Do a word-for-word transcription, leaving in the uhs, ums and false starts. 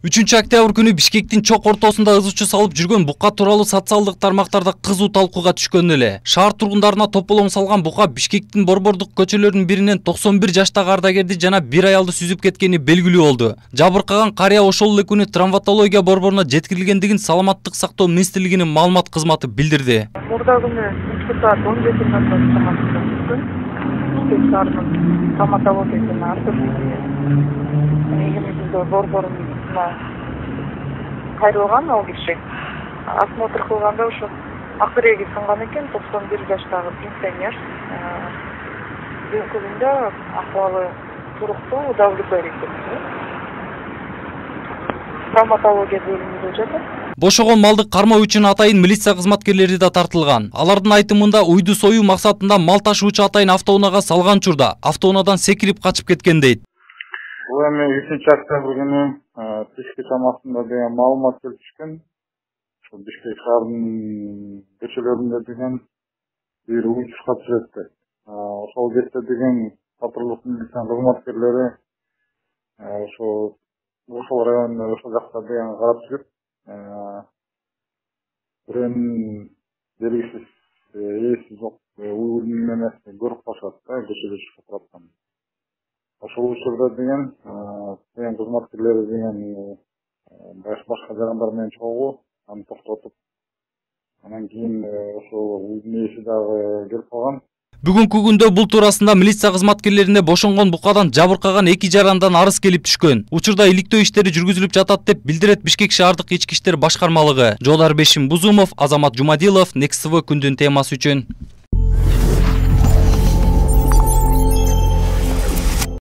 үчүнчү октябрь күнү Бишкектин чок ортосунда ызычуу салып жүргөн бука тууралуу социалдык тармактарда кызуу талкууга түшкөн эле. Шаар тургундарына тополоң салган бука Бишкектин борбордук көчөлөрүнүн биринен токсон бир жаштагы ардагерди жана бир аялды сүзүп кеткени белгилүү болду. Жабыркаган карыя ошол эле күнү травматология борборуна жеткирилгендигин Саламаттык сактоо министрлигинин маалымат кызматы билдирди. Мурда күнү түшкү саат он жети ноль ноль чамасында түшкөн. Бишкек шаарынын травматология жана ортопедия негизинде борборунун кайрылган ал киши. Осмотр кылганда ошо акыреги сынган экен, токсон бир жаштагы пенсионер. Бүгүнкү күндө акыбалы туруктуу, удовлетворительный экен. Травматология бөлүмүндө жатат. Бошогон малды кармоо үчүн атайын милиция кызматкерлери да тартылган. Алардын айтымында уйду союу максатында мал ташуучу атайын автоунаага салган учурда автоунаадан секирип качып кеткен дейт. Бул эми үчүнчү октябрь күнү түшкү чамасында деген маалымат келип түшкөн. Ошо Бишкек шаарынын көчөлөрүндө деген бир уюшка түшөттү. Ошол кетте деген патрулдук милиция кызматкерлери ошо ошол районда ошол жакта деген карап жүрүп, бирөөнүн белгисиз ээси жок уюлдун эмесин көрүп калышат да, көчөдө чыгып турган. Ошол учурда деген деген кызматкерлери деген башка жарандар менен чогуу аны токтотуп, анан кийин ошол уйдун ээси дагы келип калган. Бүгүнкү күндө бул туурасында милиция кызматкерлерине бошонгон букадан жабыркаган эки жарандан арыз келип түшкөн. Учурда иликтөө иштери жүргүзүлүп жатат деп билдирет Бишкек шаардык ички иштер башкармалыгы. Жолдар Бешим Бузумов, Азамат Жумадилов, Next T V күндүн темасы үчүн.